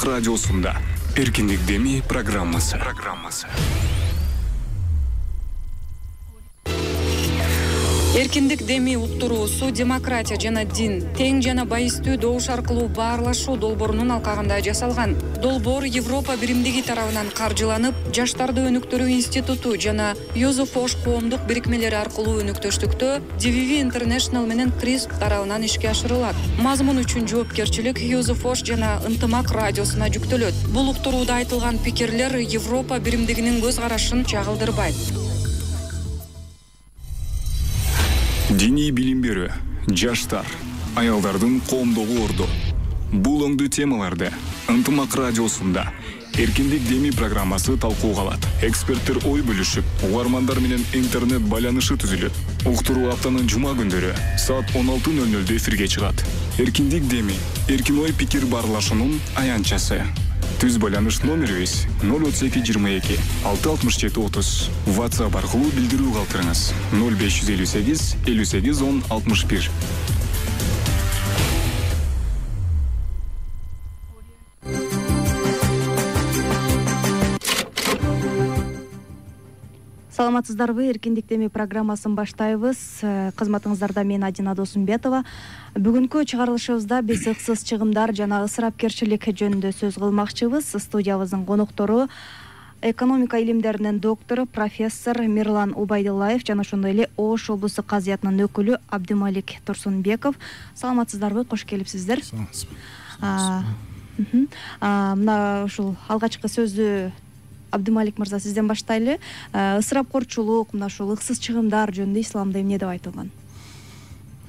ынтымак радиосунда эркиндик деми программасы. Эркиндик деми уктуруусу демократия жана дин, тең жана байыстуу добуш аркылуу баарлашуу долбоорунун алкагында жасалган. Долбоор Европа биримдиги тарабынан каржыланып, Жаштарды өнүктүрүү институту жана Юзефош коомдук бирикмелери аркылуу өнүктөштүктө DVV International менен CRISP тарабынан ишке ашырылат. Мазмун үчүн жоопкерчилик Юзефош жана ынтымак радиосуна жүктөлөт. Бул уктурууда айтылган пикирлер Европа биримдигинин көз карашын чагылдырбайт. Диний билим берүү, жаштар, аялдардын коомдогу орду. Бул оңдуу темаларды ынтымак радиосунда эркиндик деми программасы талкууга алат. Эксперттер ой бөлүшүп, угармандар менен интернет байланышы түзүлөт. Уктуруу аптанын жума күндөрү саат 16:00 эфирге чыгат. Эркиндик деми, эркин ой пикир баарлашуунун аянтчасы. Түз байланыш номерибиз 032 22 667 30. WhatsApp аркылуу билдирүү калтырыңыз. 0558 58 10 61. Саламатсыздарбы? Эркиндик деми программасын баштайбыз. Кызматыңыздарда мен Адина Досумбетова. Бүгүнкү чыгарылышыбызда биз ыксыз чыгымдар жана ысырапкерчилик жөнүндө сөз кылмакчыбыз. Студиябыздын коноктору экономика илимдеринин доктору профессор Мирлан Убайдуллаев жана ошондой эле Ош облустук казыятынын өкүлү Абдымалик Турсунбеков. Саламатсыздарбы? Кош келипсиздер. Мына ушул алгачкы сөздү Абдымалик мырза сизден баштайлы. Ысырапкорчулук, мына ушул ыксыз чыгымдар жөнүндө исламда эмне деп айтылган?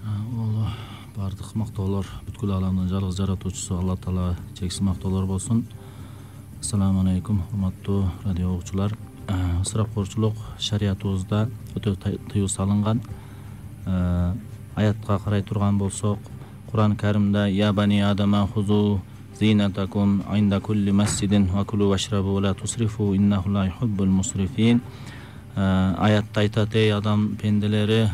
Ол бардык мактоолор бүткүл аламдын жалгыз жаратуучусу Алла Таала чексиз мактоолор болсун. Ассаламу алейкум, урматтуу радио угуучулар. Ысырапкорчулук шариятыбызда өтө тыюу салынган. Аятка карай турган болсок, Кур'ан Каримде я бани адама хузу зинатакум инда кулли масжидин ва кулу вашрабу ва ла тусрифу иннаху ла юхиббул мусрифин. Аятта айтат: ey адам пенделери,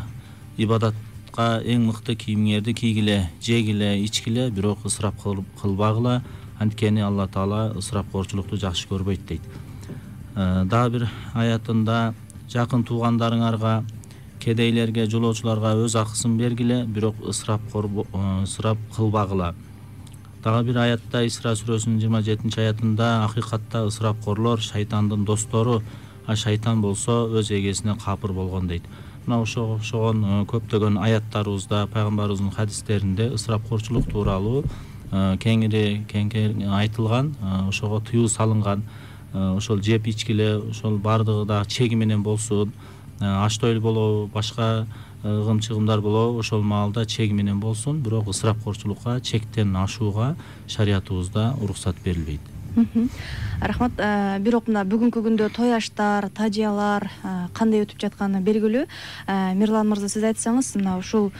ибадатка эң мыкты кийимиңерди кийгиле, жегиле, ичкиле, бирок ысырап кылбагыла, анткени Алла Таала ысырапкорчулукту жакшы көрбөйт дейт. Дагы бир аятында жакын туугандарыңарга, кедейлерге, жолоочуларга өз акысын бергиле, бирок ысырап кылбагыла. Дагы бир аятта Исра сүрөсүнүн 27-аятында акыйкатта ысырапкорлор шайтандын достору, а шайтан болсо өз эгесине капыр болгон дейт. Мына ошогон көптөгөн аяттарыбызда, пайгамбарыбыздын хадистеринде ысырапкорчулук тууралуу кеңири айтылган, ошого тыюу салынган. Ошол жеп ичкиле, ошол бардыгы да чеги менен болсун, аштойл болобу, башка ыгым-чыгымдар болобу, ошол маалда чеги менен болсун, бирок ысырапкорчулукка, чектен ашууга шариятыбызда уруксат берилбейт. Рахмат. Бирок мына бүгүнкү күндө той аштар, тажыялар кандай өтүп жатканы белгилүү. Мирлан мырза, сиз айтсаңыз, мына ушул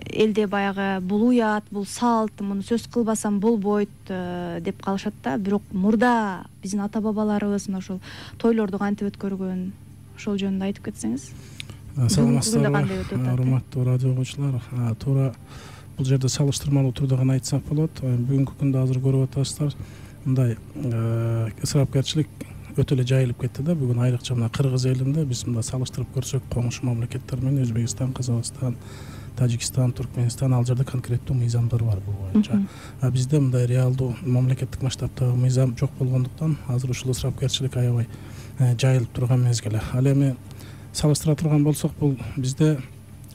элде баягы бул уят, бул салт, муну сөз кылбасам болбойт деп калышат да. Бирок мурда биздин ата бабаларыбыз мына ушул тойлорду кантип өткөргөн, ошол жөнүндө айтып кетсеңиз. Саламатсыздарбы, урматтуу радио угуучулар. Туура бул жерде салыштырмалуу турда гана айтсак болот. Бүгүнкү күндө азыр көрүп атасыздар, мындай ысырапкерчилик өтө эле жайылып кетти да. Бүгүн айрыкча мына Кыргыз элинде биз мында салыштырып көрсөк, коңшу мамлекеттер менен Өзбекстан, Казакстан, Тажикстан, Туркменстан, ал жерде конкреттүү мыйзамдар бар бул боюнча. Бизде мындай реалдуу мамлекеттик масштабтагы мыйзам жок болгондуктан азыр ушул ысырапкерчилик аябай жайылып турган мезгил. Ал эми салыштыра турган болсок, бул бизде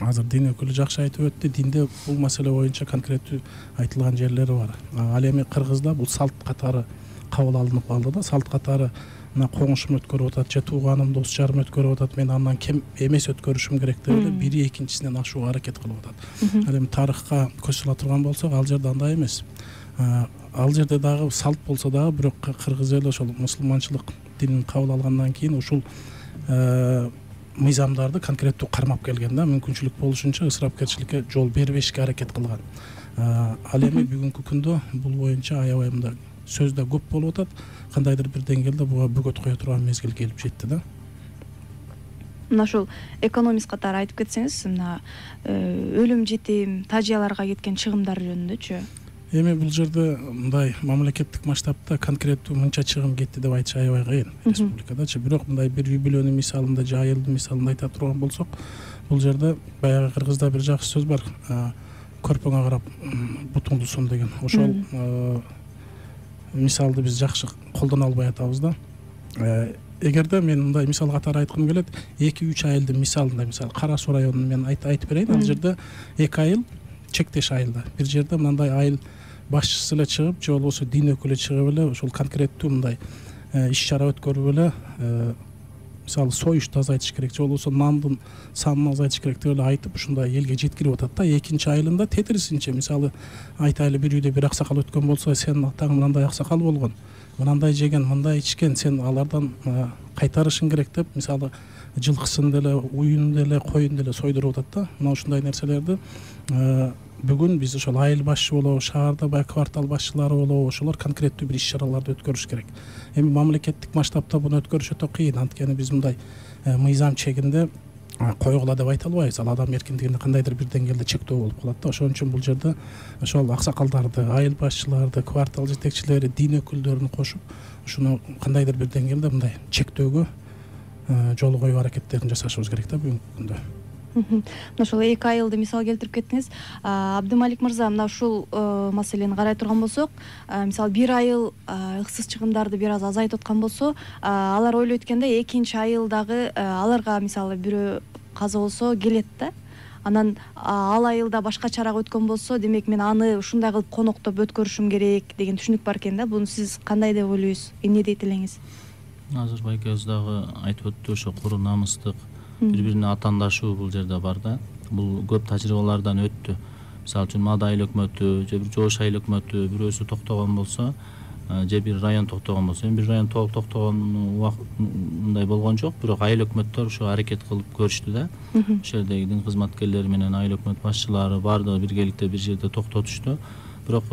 азыр дин өкүлү жакшы айтып өттү. Динде бул маселе боюнча конкреттүү айтылган жерлери бар. Ал эми Кыргызда бул салт катары кабыл алынып калды да. Салт катары мына коңушум өткөрүп атат, же тууганым, дос жарым өткөрүп атат, мен андан кем эмес өткөрүшүм керек деп эле бири экинчисинен ашууга аракет кылып атат. Ал эми тарыхка көз сала турган болсок, ал жерде андай эмес. Ал жерде дагы салт болсо дагы, бирок Кыргыз эли ошол мусулманчылык динин кабыл алгандан кийин ушул мыйзамдарды конкреттүү кармап келген да. Мүмкүнчүлүк болушунча ысырапкерчиликке жол бербешке аракет кылган. Ал эми бүгүнкү күндө бул боюнча аябай мындай сөз да көп болуп атат. Кандайдыр бир деңгээлде буга бөгөт кое турган мезгил келип жетти да. Мына ушул экономист катары айтып кетсеңиз, мына өлүм жетим, тажыяларга кеткен чыгымдар жөнүндөчү. Эми бул жерде мындай мамлекеттик масштабта конкреттүү мынча чыгым кетти деп айтыш аябай кыйын республикадачы. Бирок мындай бир юбилейный мисалында же айылдын мисалында айта турган болсок, бул жерде баягы кыргызда бир жакшы сөз бар, көрпөңө карап бутуңду сон деген. Ошол мисалды биз жакшы колдоно албай атабыз да. Эгерде мен мындай мисал катары айткым келет, 2-3 айылдын мисалында, мисалы Кара Суу районун мен айтып берейин. Ал жерде 2 айыл чектеш айылда. Бир жерде мындай айыл башчысы эле чыгып, же болбосо дин өкүлү чыгып эле ошол конкреттүү мындай иш-чара өткөрүп эле, мисалы союшту азайтыш керек, же болбосо нандын санын азайтыш керек деп эле айтып ушундай элге жеткирип атат да. Экинчи айылында тетирисинче, мисалы айтайлы, бир үйдө бир аксакал өткөн болсо, сен атаң мындай аксакал болгон, мындай жеген, мындай ичкен, сен алардан кайтарышың керек деп, мисалы жылкысын деле, уюн деле, коюн деле сойдуруп атат да. Мына ушундай нерселерди бүгүн биз ошол айыл башчы болобу, шаарда баягы квартал башчылары болобу, ошолор конкреттүү бир иш-чараларды өткөрүш керек. Эми мамлекеттик масштабта буну өткөрүш өтө кыйын, анткени биз мындай мыйзам чегинде койгула деп айта албайбыз. Ал адам эркиндигине кандайдыр бир деңгээлде чектөө болуп калат да. Ошон үчүн бул жерде ошол аксакалдарды, айыл башчыларды, квартал жетекчилери, дин өкүлдөрүн кошуп, ушуну кандайдыр бир деңгээлде мындай чектөөгө жол коюу аракеттерин жасашыбыз керек да бүгүнкү күндө. Ошол 2 айылды мисал келтирип кеттиңиз. Абдымалик мырза, мына ушул маселени карай турган болсок, мисалы бир айыл ыксыз чыгымдарды бир аз азайтып аткан болсо, алар ойлойт экенде экинчи айылдагы аларга мисалы бирөө каза болсо келет да. Анан ал айылда башка чарага өткөн болсо, демек мен аны ушундай кылып коноктоп өткөрүшүм керек деген түшүнүк бар экен да. Буну сиз кандай деп ойлойсуз? Эмне дейт элеңиз? Азыр байкебиз дагы айтып өттү, ошо куру намыстык, бири-бирине атаандашуу бул жерде бар да. Бул көп тажрыйбалардан өттү. Мисалы үчүн Мада айыл өкмөтү же бир Жош айыл өкмөтү бирөөсү токтогон болсо, же бир район токтогон болсо, бир район толук токтогон мындай болгон жок, бирок айыл өкмөттөр ошо аракет кылып көрүштү да. Ошол жердеги дин кызматкерлери менен айыл өкмөт башчылары баардыгы биргеликте бир жерде токтотушту. Бирок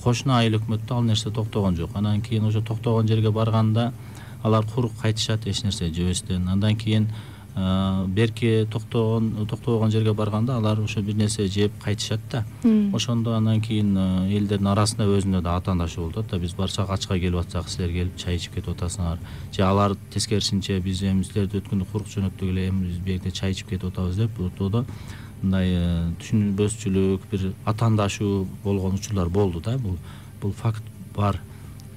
кошуна айыл өкмөттө ал нерсе токтогон жок. Андан кийин ошо токтогон жерге барганда алар курук кайтышат, эч нерсе жебестен. Андан кийин берки токтогон жерге барганда алар ошо бир нерсе жеп кайтышат да. Ошондо андан кийин элдердин арасында өзүнө да атаандашуу болуп атат да. Биз барсак ачка келип атсак, силер келип чай ичип кетип атасыңар. Же алар тескерисинче биз эми силерди өткөндө курук жөнөттүк эле, эми биз бу жерде чай ичип кетип атабыз деп ортодо мындай түшүнбөсчүлүк, бир атаандашуу болгон учурлар болду да. Бул факт бар.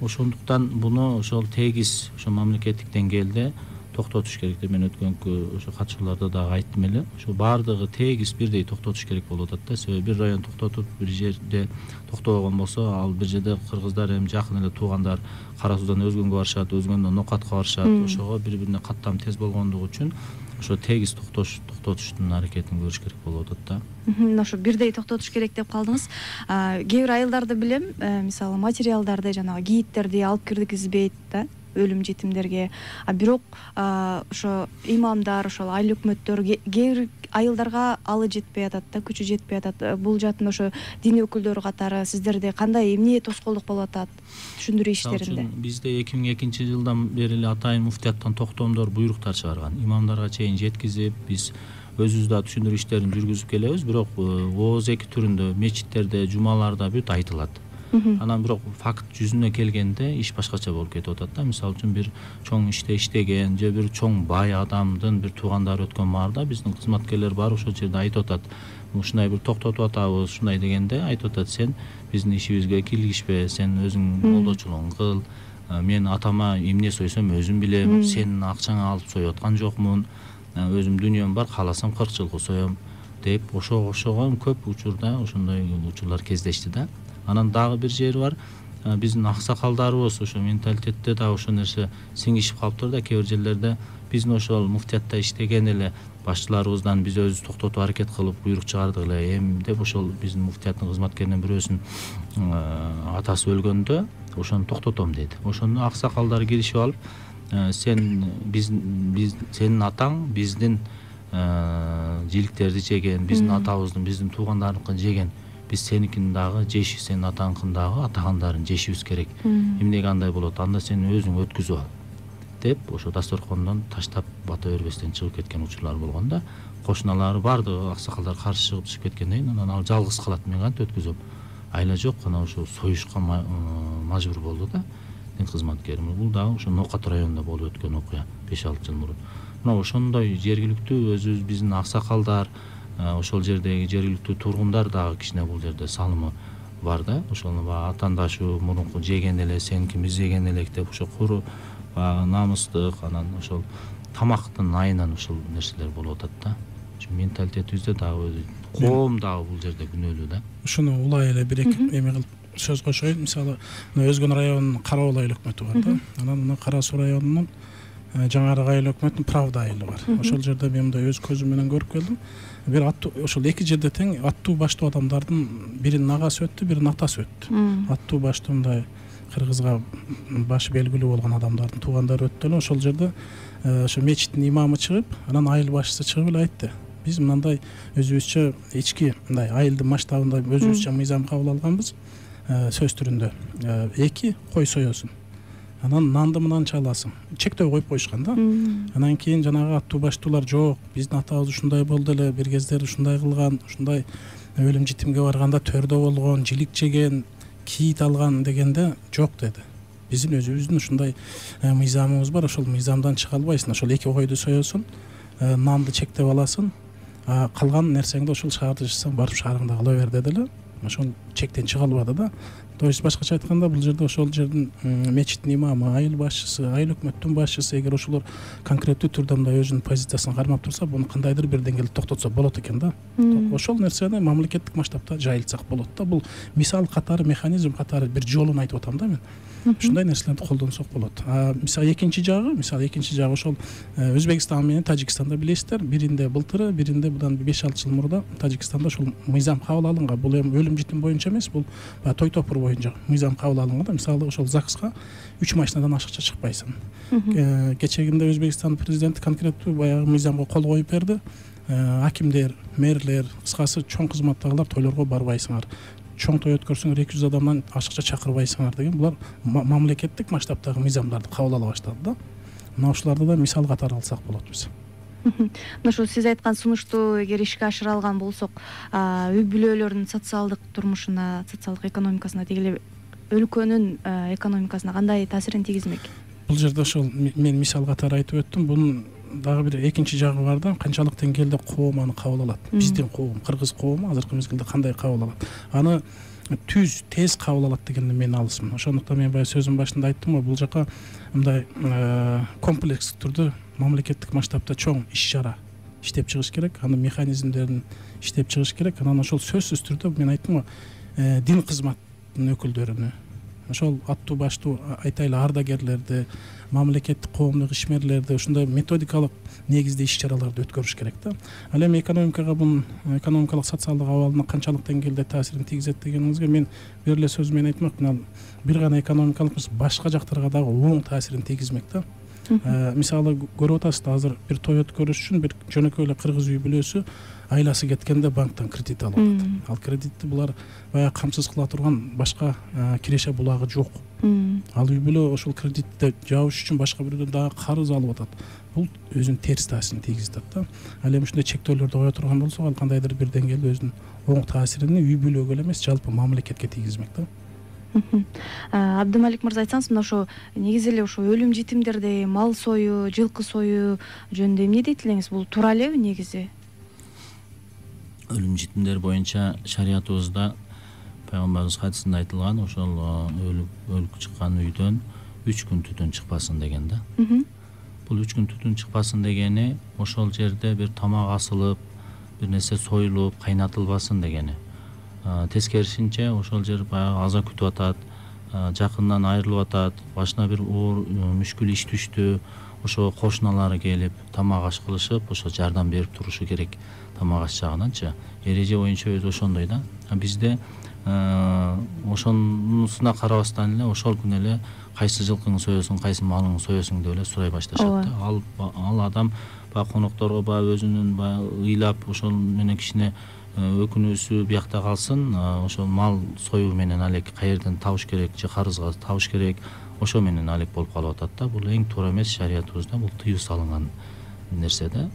Ошондуктан буну ошол тегиз ошо мамлекеттик деңгээлде токтотуш керек деп мен өткөнкү ошо катышууларда дагы айттым эле. Ошо баардыгы тегиз бирдей токтотуш керек болуп атат да. Себеби бир район токтотуп бир жерде токтобогон болсо, ал бир жерде кыргыздар эми жакын эле туугандар Кара Суудан өзгөнгө барышат, өзгөндөн Нокатка барышат. Ошого бири-бирине каттам тез болгондугу үчүн ошо тегиз токтотуштун аракетин көрүш керек болуп атат да. Ошо бирдей токтотуш керек деп калдыңыз. Кээ бир айылдарды билем, мисалы материалдарды, жанагы кийиттерди алып киргизбейт да өлүм жетимдерге. Бирок ошо имамдар, ошол айыл өкмөттөр кээ бир айылдарга алы жетпей атат да, күчү жетпей атат. Бул жатын ошо дин өкүлдөрү катары сиздерде кандай эмне тоскоолдук болуп атат түшүндүрүү иштеринде? Бизде 2002 жылдан бери эле атайын муфтияттан токтомдор, буйруктар чыгарган. Имамдарга чейин жеткизип, биз өзүбүз да түшүндүрүү иштерин жүргүзүп келебиз. Бирок ооз эки түрүндө, мечиттерде, жумаларда бүт айтылат. Анан бирок факт жүзүнө келгенде иш башкача болуп кетип атат да. Мисалы үчүн бир чоң иште иштеген же бир чоң бай адамдын бир туугандары өткөн баарда биздин кызматкерлер барып ошол жерде айтып атат. Ушундай бир токтотуп атабыз, ушундай дегенде айтып атат: сен биздин ишибизге киргишпе, сен өзүң колдоочулугуң кыл. Мен атама эмне сойсом өзүм билем, сенин акчаңа алып союп аткан жокмун. Өзүм дүнүйөм бар, кааласам 40 жылкы соем деп ошого көп учурда ошондой учурлар кездешти да. Анан дагы бир жери бар. Биздин аксакалдарыбыз ошо менталитетте дагы ошол нерсе сиңишип калыптыр да. Кээ бир жерлерде биздин ошол муфтиятта иштеген эле башчыларыбыздан биз өзүбүз токтотуп аракет кылып буйрук чыгардык эле. Эми деп ошол биздин муфтияттын кызматкеринен бирөөсүнүн атасы өлгөндө ошону токтотом деди. Ошондо аксакалдар киришип алып: сен сенин атаң биздин жиликтерди жеген, биздин атабыздын, биздин туугандарыныкын жеген. Биз сеникин дагы жеш, сенин атаңкын дагы атагандарын жешибиз керек. Эмнеге андай болот? Анда сен өзүң өткүзүп ал деп ошо дасторкондон таштап бата бербестен чыгып кеткен учурлар болгон да. Кошуналары баардыгы аксакалдар каршы чыгып кеткенден кийин анан ал жалгыз калат: мен кантип өткүзөм? айла жок, анан ошо союшка мажбур болду да дин кызматкери. Бул дагы ошо Нокат районунда болуп өткөн окуя 5-6 жыл мурун. Мына ошондой жергиликтүү өзүбүз биздин аксакалдар, ошол жердеги жергиликтүү тургундар дагы кичине бул жерде салымы бар да. Ошону баягы атаандашуу, мурунку жеген эле сеники биз жеген элек деп ошо куру баягы намыстык, анан ошол тамактын айынан ушул нерселер болуп атат да. Менталитетибизде дагы өзү коом дагы бул жерде күнөөлүү да. Ушуну улай эле бир-эки эме кылып сөз кошоюн. Мисалы, Өзгөн районунун Кара Уулай айыл өкмөтү бар да. Анан мына Кара Суу районунун жаңырык айыл өкмөтүнүн Правда айылы бар. Ошол жерде мен мындай өз көзүм менен көрүп келдим. Бир аттуу, ошол эки жерде тең аттуу баштуу адамдардын биринин агасы өттү, биринин атасы өттү. Аттуу баштуу мындай кыргызга башы белгилүү болгон адамдардын туугандары өттү эле. Ошол жерде ошо мечиттин имамы чыгып, анан айыл башчысы чыгып эле айтты: биз мындай өзүбүзчө ички мындай айылдын масштабында өзүбүзчө мыйзам кабыл алганбыз, сөз түрүндө 2 кой соесуң, анан нанды мынанча аласың, чектөө коюп коюшкан да. Анан кийин жанагы аттуу баштуулар: жок, биздин атабыз ушундай болду эле, бир кездер ушундай кылган, ушундай өлүм житимге барганда төрдө болгон, жилик жеген, кийит алган дегенде жок деди. Биздин өзүбүздүн ушундай мыйзамыбыз бар, ошол мыйзамдан чыга албайсың. Ошол 2 койду соесуң, нанды чектеп аласың, калган нерсеңди ошол шаарда жашасаң барып шаарыңда кыла бер деди эле. Ошол чектен чыга албады да. То есть башкача айтканда бул жерде ошол жердин мечиттин имамы, айыл башчысы, айыл өкмөттүн башчысы эгер ошолор конкреттүү түрдө мындай өзүнүн позициясын кармап турса, буну кандайдыр бир деңгээлде токтотсо болот экен да. Ошол нерсени мамлекеттик масштабта жайылтсак болот да. Бул мисал катары, механизм катары бир жолун айтып атам да мен. Ушундай нерселерди колдонсок болот. Мисалы экинчи жагы ошол Өзбекстан менен Тажикстанда билесиздер, биринде былтыры, биринде будан 5-6 жыл мурда Тажикстанда ошол мыйзам кабыл алынган. Бул эми өлүм житим боюнча эмес, бул той топур боюнча мыйзам кабыл алынган да. Мисалы ошол ЗАГСка 3 машинадан ашыкча чыкпайсың. Кечегинде Өзбекстан президенти конкреттүү баягы мыйзамга кол коюп берди. Акимдер, мэрлер, кыскасы чоң кызматтагылар тойлорго барбайсыңар. Чоң той өткөрсөң 200 адамдан ашыкча чакырбайсыңар деген булар мамлекеттик масштабтагы мыйзамдарды кабыл ала баштады да. Мына ушуларды да мисал катары алсак болот биз. Мына ушул сиз айткан сунушту эгер ишке ашыра алган болсок, үй бүлөлөрдүн социалдык турмушуна, социалдык экономикасына, деги эле өлкөнүн экономикасына кандай таасирин тийгизмек? Бул жерде ошол мен мисал катары айтып өттүм. Бунун дагы бир экинчи жагы бар да. Канчалык деңгээлде коом аны кабыл алат? Биздин коом, кыргыз коому азыркы мезгилде кандай кабыл алат? Аны тез кабыл алат дегенде мен алысмын. Ошондуктан мен баягы сөзүм башында айттым го, бул жака мындай комплекстик түрдө мамлекеттик масштабта чоң иш-чара иштеп чыгыш керек, анын механизмдерин иштеп чыгыш керек. Анан ошол сөзсүз түрдө мен айттым го, дин кызматтын өкүлдөрүнө, ошол аттуу баштуу айтайлы ардагерлерди, мамлекеттик коомдук ишмерлерди ушундай методикалык негизде иш-чараларды өткөрүш керек да. Ал эми экономикага, бунун экономикалык социалдык абалына канчалык деңгээлде таасирин тийгизет дегениңизге мен бир эле сөз менен айтмакмын. Бир гана экономикалык эмес, башка жактарга дагы оң таасирин тийгизмек да. Мисалы көрүп атасыздар, азыр бир той өткөрүш үчүн бир жөнөкөй эле кыргыз үй бүлөсү айласы кеткенде банктан кредит алып атат. Ал кредитти булар баягы камсыз кыла турган башка киреше булагы жок. Ал үй бүлө ошол кредитти жабыш үчүн башка бирөдөн дагы карыз алып атат. Бул өзүнүн терс таасирин тийгизет да. Ал эми ушундай чектөөлөрдү кое турган болсок, ал кандайдыр бир деңгээлде өзүнүн оң таасирин үй бүлөгө эле эмес, жалпы мамлекетке тийгизмек да. Абдымалик мырза, айтсаңыз, мына ошо негизи эле ошо өлүм житимдерди, мал сою, жылкы сою жөнүндө эмне дейт элеңиз? Бул туура элеби негизи? Өлүм житимдер боюнча шариятыбызда пайгамбарыбыз хадисинде айтылган, ошол өлүп чыккан үйдөн 3 күн түтүн чыкпасын деген да. Бул 3 күн түтүн чыкпасын дегени ошол жерде бир тамак асылып, бир нерсе союлуп, кайнатылбасын дегени. Тескерисинче ошол жер баягы аза күтүп атат, жакындан айрылып атат, башына бир оор мүшкүл иш түштү, ошо кошуналары келип тамак аш кылышып, ошо жардам берип турушу керек тамак аш жагынанчы. Эреже боюнча өзү ошондой да. Бизде ошонусуна карабастан эле ошол күнү эле кайсы жылкыңды соесуң, кайсы малыңды соесуң деп эле сурай башташат да. Ал адам баягы конокторго баягы өзүнүн баягы ыйлап ошол менен кичине өкүнүүсү биякта калсын, ошол мал союу менен алек каерден табыш керек же карызга табыш керек, ошо менен алек болуп калып атат да. Бул эң туура эмес, шариятыбызда бул тыюу салынган нерсе да.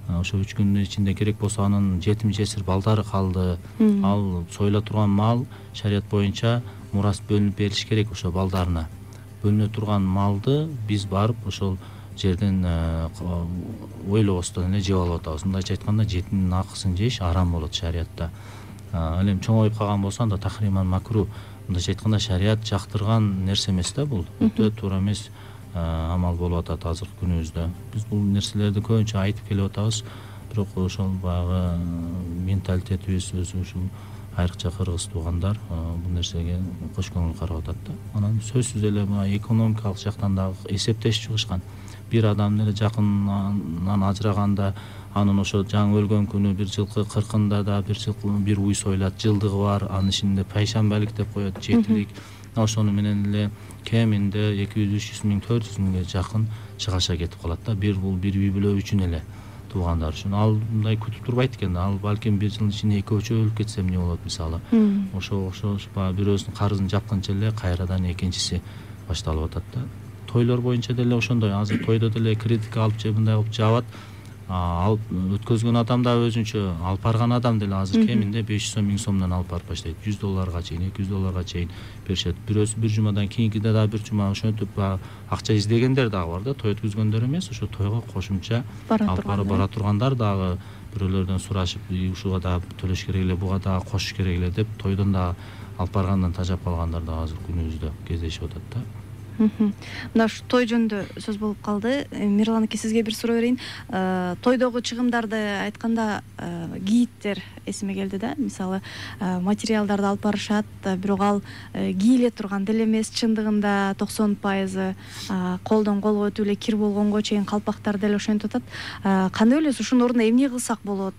ошо 3 күндүн ичинде керек болсо анын жетим жесир балдары калды, ал союла турган мал шарият боюнча мурас бөлүнүп берилиш керек. Ошо балдарына бөлүнө турган малды биз барып ошол жерден ойлобостон эле жеп алып атабыз. Мындайча айтканда жетимдин акысын жеш арам болот шариятта. Ал эми чоңоюп калган болсо анда тахриман макру. Мындайча айтканда шарият жактырган нерсе эмес да бул. Өтө туура эмес амал болуп атат азыркы күнүбүздө. Биз бул нерселерди көбүнчө айтып келип атабыз, бирок ошол баягы менталитетибиз өзү ушул айрыкча кыргыз туугандар бул нерсеге кош көңүл карап атат да. Анан сөзсүз эле экономикалык жактан дагы эсептеш чыгышкан. Бир адам эле жакынынан ажыраганда анын ошо жаңы өлгөн күнү бир жылкы 40-ында да бир уй союлат, жылдыгы бар, анын ичинде пайшамбалык деп коет, жетилик. Ошону менен эле кеминде 200-300 миң 400 миңге жакын чыгаша кетип калат да. Бул бир үй бүлө үчүн эле, туугандар үчүн. Ал мындай күтүп турбайт экен. Ал балким бир жылдын ичинде 2-3 өлүп кетсе эмне болот мисалы. Ошо бирөөсүнүн карызын жапканча эле кайрадан экинчиси башталып атат да. Тойлор боюнча деле ошондой. Азыр тойдо деле кредитке алып же мындай кылып жабат. Алып өткөзгөн адам да өзүнчө, алып барган адам деле азыр кеминде 500 миң сомдон алып барып баштайт. $100 чейин, $200 чейин беришет. Бирөөсү бир жумадан кийинкиде да бир жума ошентип акча издегендер дагы бар да, той өткөзгөндөр эмес, ошо тойго кошумча алып бара тургандар дагы бирөөлөрдөн сурашып, ушуга дагы төлөш керек эле, буга дагы кошуш керек эле деп тойдон дагы алып баргандан тажап калгандар да азыр күнүбүздө кездешип атат да. Мына ушу той жөнүндө сөз болуп калды. Мирлан аке, сизге бир суроо берейин. Тойдогу чыгымдарды айтканда гидтер эсиме келди да. Мисалы, материалдарды алып барышат, бирок ал кийле турган деле эмес, чындыгында 90% колдон колго өтүп эле кир болгонго чейин калпактар деле ошентип атат. Кандай ойлойсуз, ушунун ордуна эмне кылсак болот?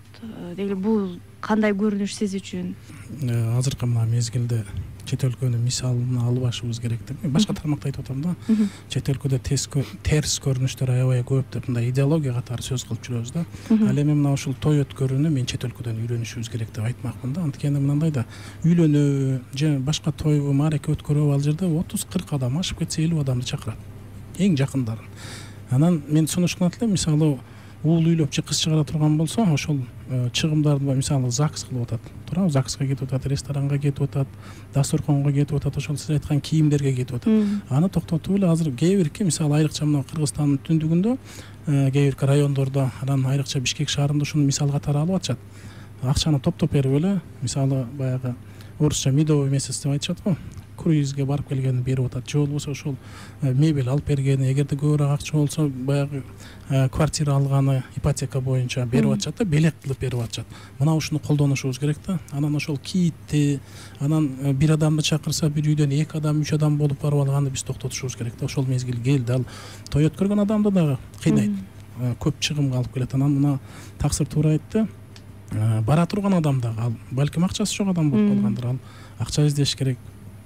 Деги бул кандай көрүнүш сиз үчүн? Азыркы мына мезгилде чет өлкөнүн мисалын алып ашыбыз керек деп. Башка тармакта айтып атам да. Чет өлкөдө терс көрүнүштөр аябай көп деп мындай идеология катары сөз кылып жүрөбүз да. Ал эми мына ушул той өткөрүүнү мен чет өлкөдөн үйрөнүшүбүз керек деп айтмакмын да. Анткени мындай да, үйлөнүү же башка тойбу, маареке өткөрүү ал жерде 30-40 адам, ашып кетсе 50 адамды чакырат. Эң жакындарын. Анан мен сунуштанат элем, мисалы уул үйлөп же кыз чыгара турган болсо, ошол чыгымдарды мисалы ЗАГС кылып атат. Туурабы? ЗАГСка кетип атат, ресторанга кетип атат, дасторконго кетип атат, ошол сиз айткан кийимдерге кетип атат. Аны токтотуп эле азыр кээ бирки, мисалы айрыкча мына Кыргызстандын түндүгүндө, кээ бирки райондордо, анан айрыкча Бишкек шаарында ушуну мисал катары алып атышат. Акчаны топтоп берип эле, мисалы баягы орусча медовый месяц деп айтышат го. Круизге барып келгени берип атат. Же болбосо ошол мебель алып бергени, эгерде көбүрөөк акча болсо баягы квартира алганы ипотека боюнча берип атышат да, белек кылып берип атышат. Мына ушуну колдонушубуз керек да. Анан ошол киитти, анан бир адамды чакырса бир үйдөн 2 адам, 3 адам болуп барып алганды биз токтотушубуз керек да. Ошол мезгил келди. Ал той өткөргөн адамды дагы кыйнайт. Көп чыгымга алып келет. Анан мына таксыр туура айтты. Бара турган адам дагы ал балким акчасы жок адам болуп калгандыр. Ал акча издеш керек,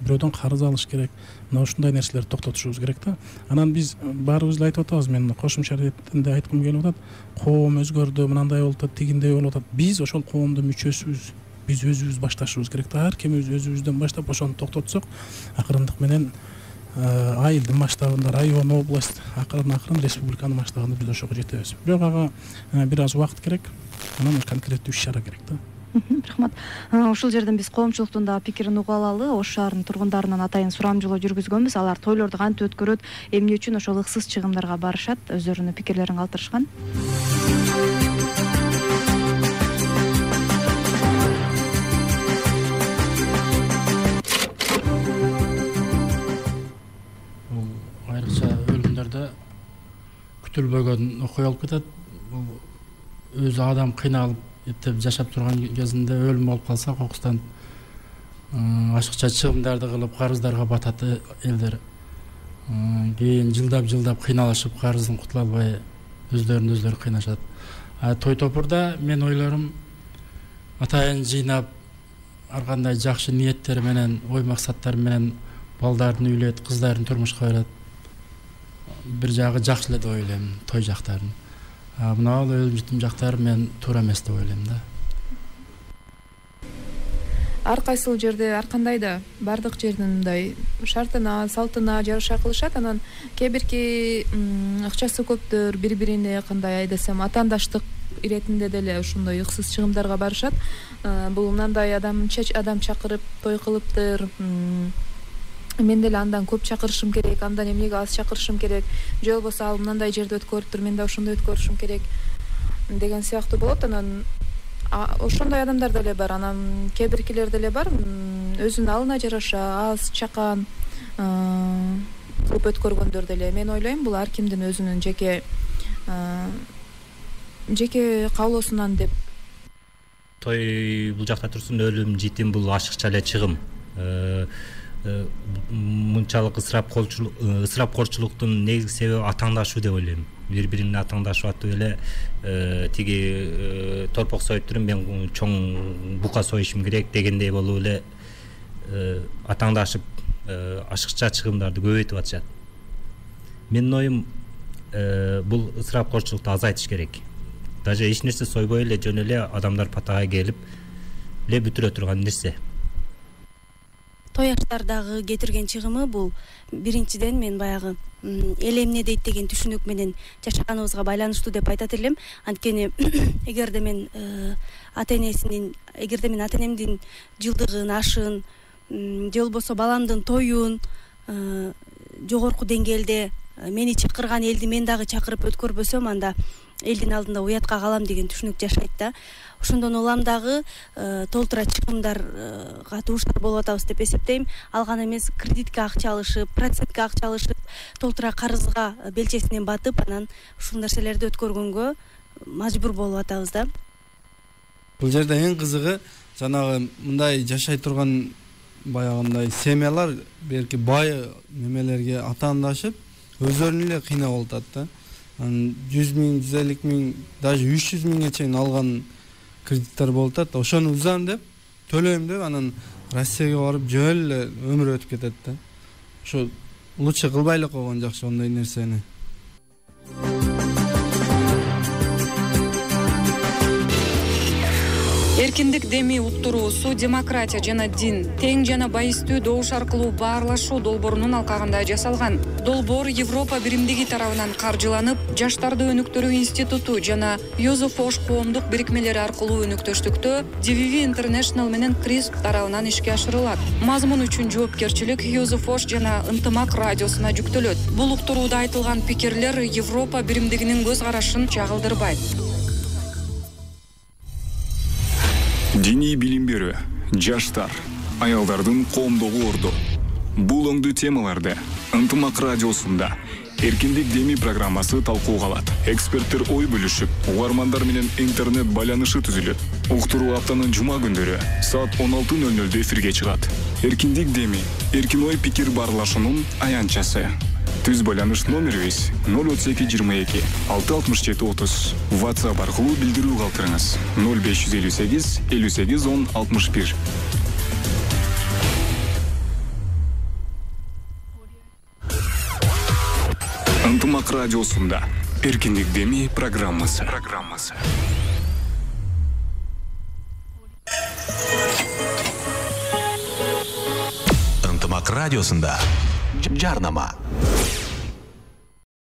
бирөөдөн карыз алыш керек. Мына ушундай нерселерди токтотушубуз керек да. Анан биз баарыбыз эле айтып атабыз, мен кошумча иретинде айткым келип атат. Коом өзгөрдү, мынандай болуп атат, тигиндей болуп атат. Биз ошол коомдун мүчөсүбүз. Биз өзүбүз башташыбыз керек да. Ар кимибиз өзүбүздөн баштап ошону токтотсок, акырындык менен айылдын масштабында, район, область, акырын республиканын масштабында биз ошого жетебиз. Бирок ага бир аз убакыт керек. Анан конкреттүү иш-чара керек да. Рахмат. Ушул жерден биз коомчулуктун да пикирин угуп алалы. Ош шаарынын тургундарынан атайын сурамжылоо жүргүзгөнбүз. Алар тойлорду кантип өткөрөт, эмне үчүн ошол ыксыз чыгымдарга барышат, өздөрүнүн пикирлерин калтырышкан. Айрыкча өлүмдөрдө күтүлбөгөн окуя болуп кетет. Өзү адам кыйналып эптеп жашап турган кезинде өлүм болуп калса, кокустан ашыкча чыгымдарды кылып карыздарга батат элдер. Кийин жылдап кыйналышып карыздан кутула албай өздөрүн кыйнашат. Той топурда мен ойлорум атайын жыйнап, ар кандай жакшы ниеттер менен, ой максаттар менен балдарын үйлөйт, кыздарын турмушка берет. Бир жагы жакшы эле деп ойлойм, той жактарын. Мына өлүм житим жактары мен туура эмес деп ойлойм да. Ар кайсыл жерде ар кандай да бардык жердин мындай шартына, салтына жараша кылышат. Анан кээ бирки акчасы көптөр бири-бирине кандай десем атаандаштык иретинде деле ошондой ыксыз чыгымдарга барышат. Бул мындай адам чакырып той кылыптыр, мен деле андан көп чакырышым керек, андан эмнеге аз чакырышым керек, же болбосо ал мындай жерде өткөрүптүр, мен да ошондой өткөрүшүм керек деген сыяктуу болот. Анан ошондой адамдар деле бар. Анан кээ биркилер деле бар, өзүнүн алына жараша аз чакан кылып өткөргөндөр деле. Мен ойлойм, бул ар кимдин өзүнүн жеке каалоосунан деп. Той бул жакта турсун, өлүм, житим бул ашыкча эле чыгым. Мынчалык ысырапкорчулуктун негизги себеби атаңдашуу деп ойлойм. Бири-бирине атаңдашып атып эле тиги торпок союп туруп мен чоң бука союшум керек дегендей болуп эле атаңдашып ашыкча чыгымдарды көбөйтүп атышат. Менин оюм, бул ысырапкорчулукту азайтыш керек. Даже эч нерсе сойбой эле жөн эле адамдар патага келип эле бүтүрө турган нерсе. Той аштардагы кетирген чыгымы бул биринчиден мен баягы эл эмне дейт деген түшүнүк менен жашаганыбызга байланыштуу деп айтат элем. Анткени эгерде мен ата-энемдин жылдыгын, ашын же болбосо баламдын тоюн жогорку деңгээлде мени чакырган элди мен дагы чакырып өткөрбөсөм, анда элдин алдында уятка калам деген түшүнүк жашайт да. Ошондон улам дагы толтура чыгымдарга дуушар болуп атабыз деп эсептейм. Ал гана эмес, кредитке акча алышып, процентке акча алышып, толтура карызга белчесинен батып, анан ушул нерселерди өткөргөнгө мажбур болуп атабыз да. Бул жерде эң кызыгы жанагы мындай жашай турган баягындай семьялар берки бай немелерге атаандашып өздөрүнү эле кыйнап алат да. 100 миң, 150 миң, даже 300 миңге чейин алган кредиттер болуп атат. Ошону узам деп, төлөйм деп, анан Россияга барып жөн эле өмүр өтүп кетет да. Ошо лучше кылбай эле койгон жакшы ондой нерсени. Эркиндик деми уктуруусу демократия жана дин, тең жана байыстуу добуш аркылуу баарлашуу долбоорунун алкагында жасалган. Долбоор Европа биримдиги тарабынан каржыланып, Жаштарды өнүктүрүү институту жана Юзеф Фош коомдук бирикмелери аркылуу өнүктөштүктө DVV International менен CRISP тарабынан ишке ашырылат. Мазмун үчүн жоопкерчилик Юзеф Фош жана Ынтымак радиосуна жүктөлөт. Бул уктурууда айтылган пикирлер Европа биримдигинин көз карашын чагылдырбайт. Диний билим берүү, жаштар, аялдардын коомдогу орду. Бул оңдуу темаларды Ынтымак радиосунда Эркиндик деми программасы талкууга алат. Эксперттер ой бөлүшүп, угармандар менен интернет байланышы түзүлөт. Уктуруу аптанын жума күндөрү саат 16:00 эфирге чыгат. Эркиндик деми, эркин ой пикир баарлашуунун аянтчасы. Түз байланыш номерибиз 032 667 30. WhatsApp аркылуу билдирүү калтырыңыз. 0558 58 10 61. Ынтымак радиосунда Эркиндик деми программасы. Ынтымак радиосунда жарнама.